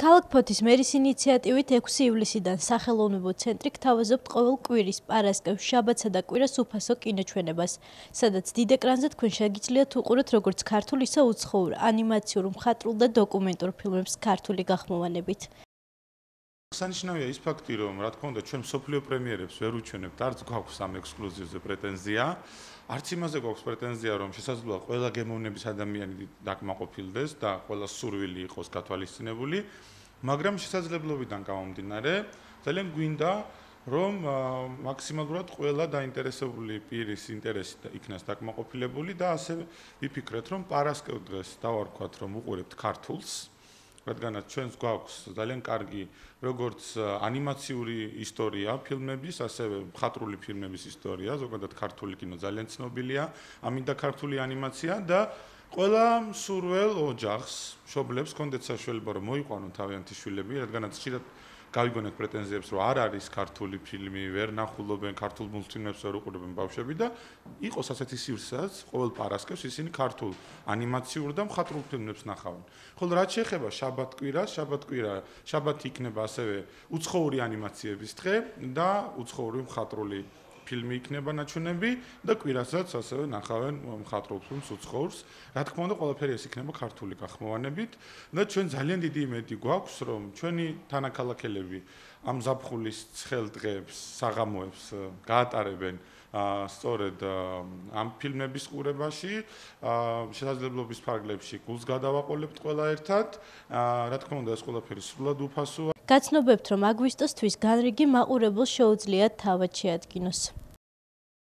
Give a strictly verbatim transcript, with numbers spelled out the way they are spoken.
ქალაქ ფოთის მერის ინიციატივით ექვსი ივლისიდან სახელოვნებო ცენტრი გთავაზობთ ყოველ კვირის, პარასკევს, შაბათსა და კვირას უფასო კინოჩვენებას, სადაც დიდ ეკრანზე თქვენ შეგიძლიათ უყუროთ როგორც ქართულ, ისე უცხოურ, ანიმაციურ, მხატვრულ და დოკუმენტურ ფილმებს ქართული გახმოვანებით. Სანიშნავია ის ფაქტი, რომ რა თქმა უნდა ჩვენ მსოფლიო პრემიერებს ვერ უჩვენებთ, არც გვაქვს ამ ექსკლუზივზე პრეტენზია, არც იმაზე გვაქვს პრეტენზია, რომ შესაძლოა ყველა გემოვნების ადამიანი დაკმაყოფილდეს და ყველა სურვილი იყოს გათვალისწინებული, მაგრამ შესაძლებლობიდან გამომდინარე, ძალიან გვინდა, რომ მაქსიმალურად ყველა დაინტერესებული პირის ინტერესი იქნას დაკმაყოფილებული და ასე ვიფიქრეთ, რომ პარასკევ დღეს დავარქვათ, რომ უყურებთ ქართულს. რადგანაც ჩვენს გვაქვს ძალიან კარგი როგორც ანიმაციური ისტორია ფილმების, ასევე მხატვრული ფილმების ისტორია, ზოგადად ქართული კინო ძალიან ცნობილია, ამინდა ქართული ანიმაცია და ყველა მსურველ ოჯახს, მშობლებს ჰქონდეთ საშუალება რომ მოიყვანონ თავიანთი შვილები, რადგანაც ხშირად გავიგონეთ პრეტენზიებს, რომ არ არის ქართული ფილმი, ვერ ნახულობენ ქართულ მულტფილმებს, ვერ უყურებენ ბავშვები და იყოს ასეთი სივრცეაც, ყოველ პარასკევს ისინი ქართულ ანიმაციურ და მხატვრულ ფილმებს ნახავენ. ხოლო რაც შეეხება შაბათ-კვირას, შაბათ-კვირა, შაბათი იქნება ასევე უცხოური ანიმაციების დღე და უცხოური მხატვრული ფილმი იქნება ნაჩვენები და კვირასაც ასევე ნახავენ მხატვრულ ფილმს უცხოურს. რა თქმა უნდა, ყველაფერი ეს იქნება ქართული გახმოვანებით და ჩვენ ძალიან დიდი იმედი გვაქვს, რომ ჩვენი თანაქალაქელები ამ ზაფხულის ცხელ დღეებს, საღამოებს გაატარებენ სწორედ ამ ფილმების ყურებაში, შესაძლებლობის ფარგლებში გულს გადავაყოლებთ ყველა ერთად. რა თქმა უნდა, ეს ყველაფერი სრულად უფასოა. გაცნობებთ, რომ აგვისტოს თვის განრიგი მაყურებელს შეუძლიათ თავად შეადგინოს.